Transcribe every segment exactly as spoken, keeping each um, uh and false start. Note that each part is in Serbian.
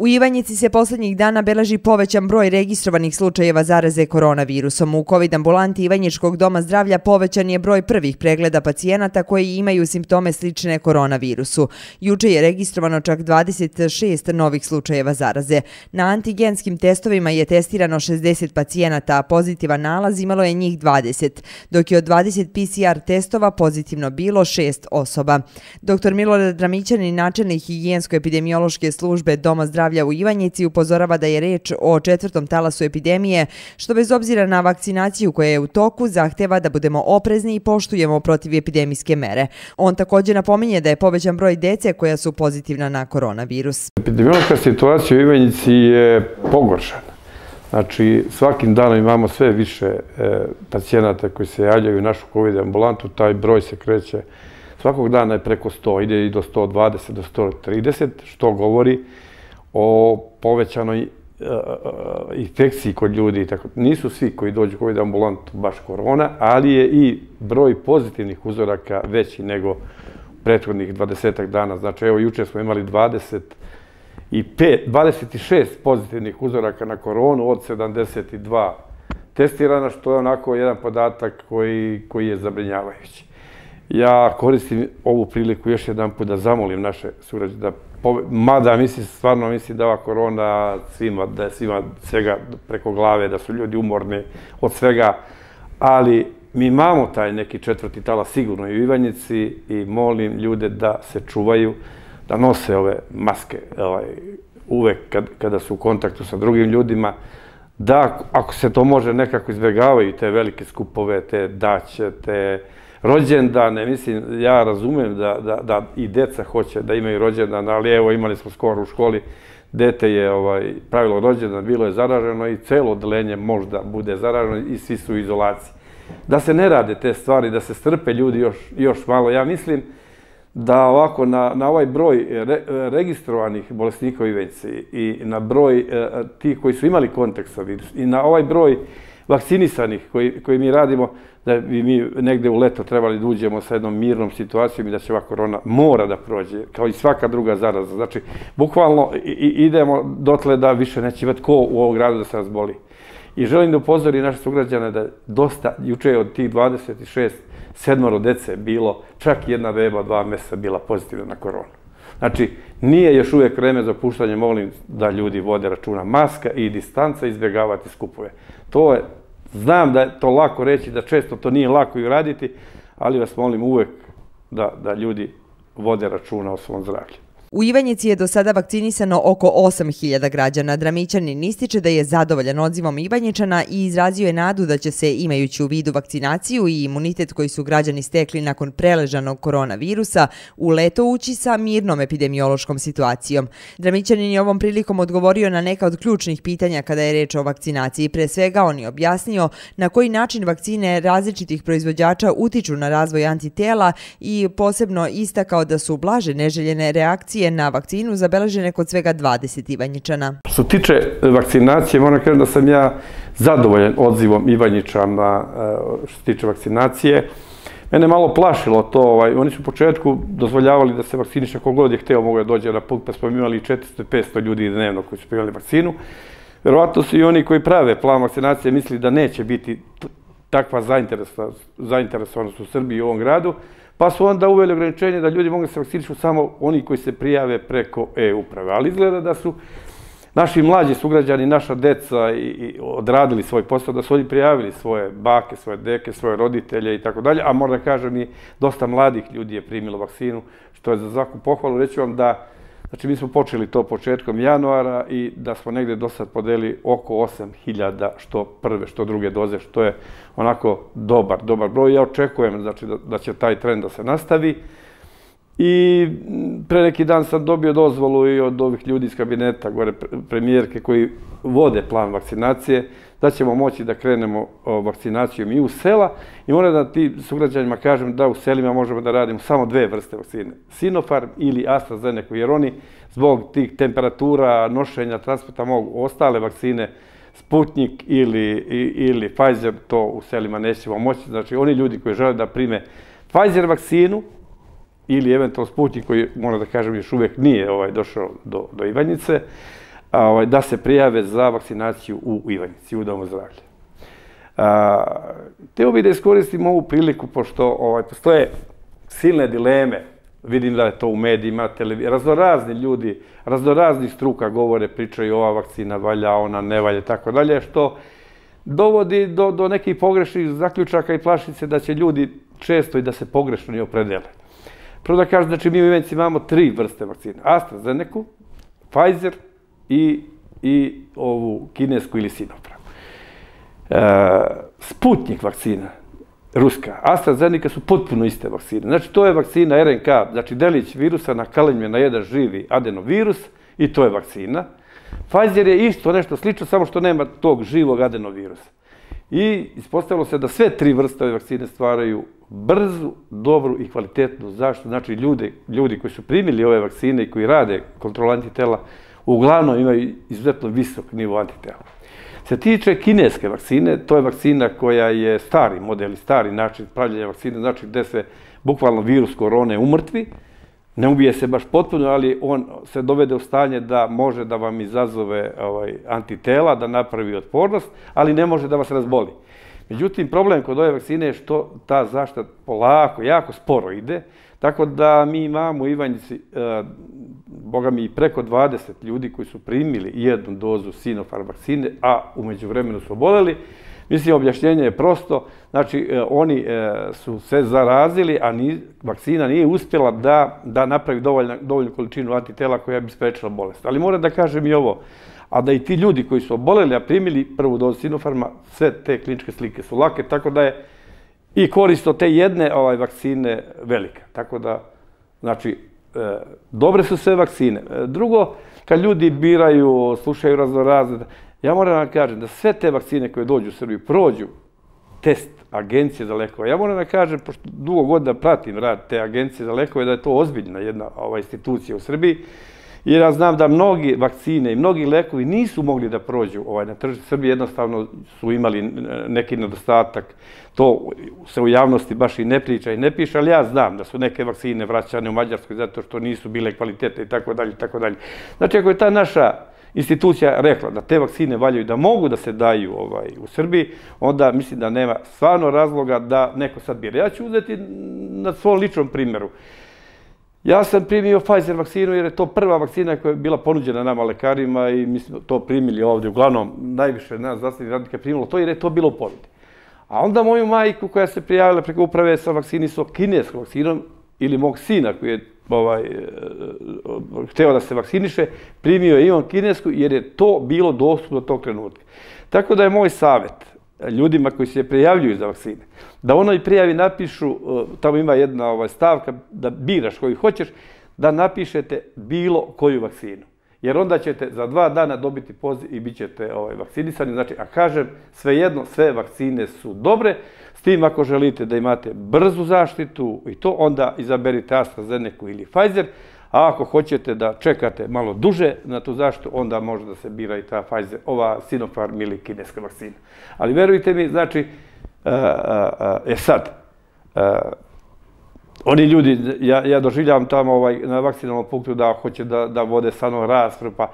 U Ivanjici se poslednjih dana beleži povećan broj registrovanih slučajeva zaraze koronavirusom. U kovid ambulanti Ivanjičkog doma zdravlja povećan je broj prvih pregleda pacijenata koji imaju simptome slične koronavirusu. Juče je registrovano čak dvadeset šest novih slučajeva zaraze. Na antigenskim testovima je testirano šezdeset pacijenata, a pozitivan nalaz imalo je njih dvadeset, dok je od dvadeset P C R testova pozitivno bilo šest osoba. Doktor Milorad Dramićanin, načelnik higijensko-epidemiološke službe Doma zdravlja u Ivanjici, upozorava da je reč o četvrtom talasu epidemije, što bez obzira na vakcinaciju koja je u toku zahteva da budemo oprezni i poštujemo protivepidemijske mere. On također napominje da je povećan broj dece koja su pozitivna na koronavirus. Epidemiološka situacija u Ivanjici je pogoršana. Znači, svakim danom imamo sve više pacijenata koji se javljaju u našu kovid ambulantu, taj broj se kreće svakog dana je preko sto, ide i do sto dvadeset, do sto trideset, što govori o povećanoj infekciji kod ljudi. Nisu svi koji dođu u kovid ambulantu baš korona, ali je i broj pozitivnih uzoraka veći nego prethodnih dvadesetak dana. Znači, evo, juče smo imali dvadeset šest pozitivnih uzoraka na koronu od sedamdeset dva testirana, što je onako jedan podatak koji je zabrinjavajući. Ja koristim ovu priliku još jedan put da zamolim naše sugrađane da, mada mislim, stvarno mislim da ova korona svima, da je svima svega preko glave, da su ljudi umorni od svega, ali mi imamo taj neki četvrti talas sigurno i u Ivanjici i molim ljude da se čuvaju, da nose ove maske uvek kada su u kontaktu sa drugim ljudima, da ako se to može nekako izbjegavaju te velike skupove, te daće, te rođendane. Mislim, ja razumem da i deca hoće da imaju rođendan, ali evo imali smo skoro u školi, dete je pravilo rođendan, bilo je zaraženo i celo odeljenje možda bude zaraženo i svi su u izolaciji. Da se ne rade te stvari, da se strpe ljudi još malo. Ja mislim da ovako na ovaj broj registrovanih bolesnika u Ivanjici i na broj tih koji su imali kontakt sa virusom i na ovaj broj vakcinisanih koji mi radimo, da bi mi negde u leto trebali da uđemo sa jednom mirnom situacijom i da će ova korona mora da prođe, kao i svaka druga zaraza. Znači, bukvalno idemo dotle da više neće imati ko u ovom gradu da se razboli. I želim da upozori naše sugrađane da dosta, juče je od tih dvadeset šest sedmoro dece bilo, čak jedna beba od dva meseca bila pozitivna na koronu. Znači, nije još uvijek vreme za opuštanje, molim da ljudi vode računa. Maska i distanca, izbjegavati skupove. To je, znam da je to lako reći, da često to nije lako i uraditi, ali vas molim uvijek da ljudi vode računa o svom zdravlju. U Ivanjici je do sada vakcinisano oko osam hiljada građana. Dramićanin ističe da je zadovoljan odzivom Ivanjičana i izrazio je nadu da će se, imajući u vidu vakcinaciju i imunitet koji su građani stekli nakon preležanog koronavirusa, u leto ući sa mirnom epidemiološkom situacijom. Dramićanin je ovom prilikom odgovorio na neka od ključnih pitanja kada je reč o vakcinaciji. Pre svega on je objasnio na koji način vakcine različitih proizvođača utiču na razvoj antitela i posebno istakao da su blaže neželjene reakcije na vakcinu zabeležene kod svega dvadeset Ivanjičana. Što se tiče vakcinacije, moram kažem da sam ja zadovoljan odzivom Ivanjičana što se tiče vakcinacije. Mene malo plašilo to, oni su u početku dozvoljavali da se vakciniše kogod je hteo, mogo je dođe na put, pa smo imali četiristo do petsto ljudi dnevno koji su primali vakcinu. Verovatno su i oni koji prave plan vakcinacije mislili da neće biti takva zainteresovanost u Srbiji i u ovom gradu, pa su onda uveli ograničenje da ljudi mogu se vakcinišu samo oni koji se prijave preko e-uprave. Ali izgleda da su naši mlađi sugrađani, naša deca odradili svoj posao, da su oni prijavili svoje bake, svoje deke, svoje roditelje i tako dalje, a moram da kažem i dosta mladih ljudi je primilo vakcinu, što je za svaku pohvalu. Reći vam da, znači mi smo počeli to početkom januara i da smo negde do sad podelili oko osam hiljada što prve, što druge doze, što je onako dobar, dobar broj. Ja očekujem da će taj trend da se nastavi. I pre neki dan sam dobio dozvolu i od ovih ljudi iz kabineta, gore premijerke koji vode plan vakcinacije, da ćemo moći da krenemo vakcinacijom i u sela. I moram da ti sugrađanima kažem da u selima možemo da radimo samo dve vrste vakcine. Sinopharm ili AstraZeneca, jer oni zbog tih temperatura, nošenja, transporta mogu ostale vakcine, Sputnik ili Pfizer, to u selima nećemo moći. Znači, oni ljudi koji žele da prime Pfizer vakcinu, ili eventualno Sputnik koji, moram da kažem, još uvijek nije došao do Ivanjice, da se prijave za vakcinaciju u Ivanjici, u Domu zdravlja. Hteo bih da iskoristim ovu priliku, pošto postoje silne dileme, vidim da je to u medijima, raznorazni ljudi, raznoraznih struka govore, pričaju ova vakcina valja, ona ne valja, tako dalje, što dovodi do nekih pogrešnih zaključaka i plaši se da će ljudi često i da se pogrešno i opredele. Prvo da kažem, znači mi u Ivanjici imamo tri vrste vakcina. AstraZeneca, Pfizer i ovu kinesku ili Sinopharm. Sputnik vakcina, ruska, AstraZeneca su potpuno iste vakcine. Znači to je vakcina R N K, znači delić virusa nakalinjuje na jedan živi adenovirus i to je vakcina. Pfizer je isto nešto slično, samo što nema tog živog adenovirusa. I ispostavilo se da sve tri vrste ove vakcine stvaraju brzu, dobru i kvalitetnu zaštitu. Znači ljudi koji su primili ove vakcine i koji rade kontrolu antitela uglavnom imaju izuzetno visok nivo antitela. Se tiče kineske vakcine, to je vakcina koja je stari model i stari način pravljenja vakcine, znači gde se bukvalno virus korone umrtvi, ne ubije se baš potpuno, ali on se dovede u stanje da može da vam izazove antitela, da napravi otpornost, ali ne može da vas razboli. Međutim, problem kod ove vakcine je što ta zaštita polako, jako sporo ide, tako da mi imamo u Ivanjici, boga mi, i preko dvadeset ljudi koji su primili jednu dozu Sinopharm vakcine, a umeđu vremenu su oboleli. Mislim, objašnjenje je prosto, znači oni su se zarazili, a vakcina nije uspjela da napravi dovoljnu količinu antitela koja bi sprečila bolest. Ali moram da kažem i ovo, a da i ti ljudi koji su oboleli, a primili prvu dozu Sinopharma, sve te kliničke slike su lake, tako da je i korist od te jedne vakcine velika. Tako da, znači, dobre su sve vakcine. Drugo, kad ljudi biraju, slušaju raznorazne, ja moram vam kažem da sve te vakcine koje dođu u Srbiju prođu test Agencije za lekove. Ja moram da kažem, pošto dugo godina pratim rad te Agencije za lekove, da je to ozbiljna jedna institucija u Srbiji, jer ja znam da mnogi vakcine i mnogi lekovi nisu mogli da prođu na tržište Srbije, jednostavno su imali neki nedostatak. To se u javnosti baš i ne priča i ne piše, ali ja znam da su neke vakcine vraćane u Mađarskoj zato što nisu bile kvalitete i tako dalje i tako dalje. Znači, ako je ta naša institucija rekla da te vakcine valjaju da mogu da se daju u Srbiji, onda mislim da nema stvarno razloga da neko sad bira. Ja ću uzeti na svom ličnom primjeru. Ja sam primio Pfizer vakcinu jer je to prva vakcina koja je bila ponuđena nama lekarima i mi smo to primili ovdje. Uglavnom, najviše nas zdravstvenih radnika je primilo to jer je to bilo u ponudi. A onda moju majku koja se prijavila preko uprave sa vakcinisom kineskom vakcinom ili mog sina koji je hteo da se vakciniše, primio je i on kinesku jer je to bilo dostupno do tog trenutka. Tako da je moj savjet ljudima koji se prijavljuju za vakcine, da onoj prijavi napišu, tamo ima jedna stavka, da biraš koju hoćeš, da napišete bilo koju vakcinu. Jer onda ćete za dva dana dobiti poziv i bit ćete vakcinisani. Znači, a kažem, svejedno, sve vakcine su dobre, s tim ako želite da imate brzu zaštitu i to, onda izaberite AstraZeneca ili Pfizer, a ako hoćete da čekate malo duže na tu zaštitu, onda može da se bira i ta Pfizer, ova Sinopharm ili kineska vakcina. Ali verujte mi, znači, e sad, oni ljudi, ja doživljavam tamo na vakcinalnom punktu da hoće da vode sa mnom raspravu, pa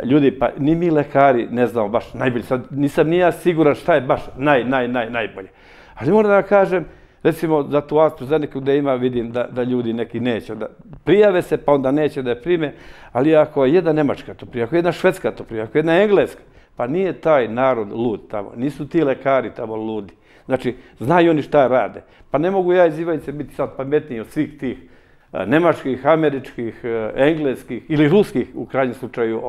ljudi, pa ni mi lekari ne znamo baš najbolje, sad nisam ni ja siguran šta je baš naj, naj, naj, najbolje. Ali moram da kažem, recimo za tu AstraZeneca gde ima, vidim da ljudi neki neće, da prijave se pa onda neće da je prime, ali ako jedna Nemačka to prije, ako jedna Švedska to prije, ako jedna Engleska, pa nije taj narod lud tamo, nisu ti lekari tamo ludi. Znači, znaju oni šta rade. Pa ne mogu ja iz Ivanjice biti sad pametniji od svih tih nemačkih, američkih, engleskih ili ruskih, u krajnjem slučaju,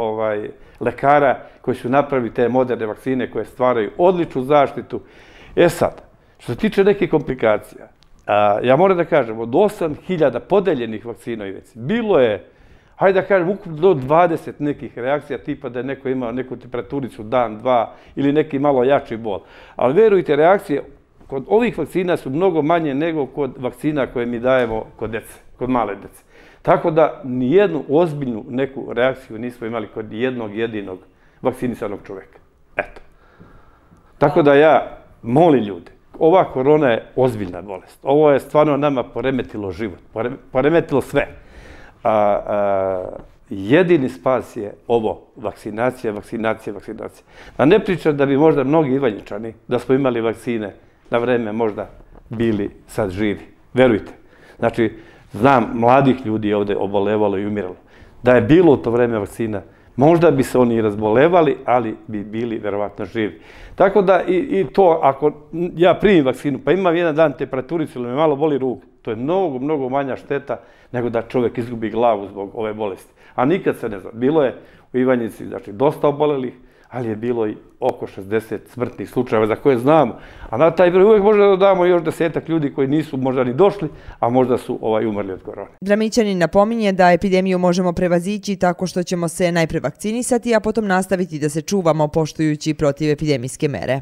lekara koji su napravili te moderne vakcine koje stvaraju odličnu zaštitu. E sad, što se tiče nekih komplikacija, ja moram da kažem, od osam hiljada podeljenih vakcina u Ivanjici, bilo je, hajde da kažem, ukupno do dvadeset nekih reakcija, tipa da je neko imao neku temperaturicu dan, dva, ili neki malo jači bol. Ali verujte, reakcije kod ovih vakcina su mnogo manje nego kod vakcina koje mi dajemo kod dece, kod male dece. Tako da nijednu ozbiljnu neku reakciju nismo imali kod jednog jedinog vakcinisanog čoveka. Eto. Tako da ja molim ljude, ova korona je ozbiljna bolest. Ovo je stvarno nama poremetilo život, poremetilo sve. jedini spas je ovo, vakcinacija, vakcinacija, vakcinacija. A ne pričam da bi možda mnogi Ivanjičani, da smo imali vakcine na vreme, možda bili sad živi. Verujte. Znači, znam, mladih ljudi ovde obolevalo i umiralo. Da je bilo u to vreme vakcina, možda bi se oni i razbolevali, ali bi bili verovatno živi. Tako da i to, ako ja primim vakcinu, pa imam jedan dan temperaturicu ili me malo boli ruk, to je mnogo, mnogo manja šteta nego da čovjek izgubi glavu zbog ove bolesti. A nikad se ne zna. Bilo je u Ivanjici, znači, dosta obolelih, ali je bilo i oko šezdeset smrtnih slučajeva za koje znamo. A na taj broj uvijek možda dodamo još desetak ljudi koji nisu možda ni došli, a možda su ovaj umrli od korone. Dramićanin napominje da epidemiju možemo prevazići tako što ćemo se najpre vakcinisati, a potom nastaviti da se čuvamo poštujući protivepidemijske mere.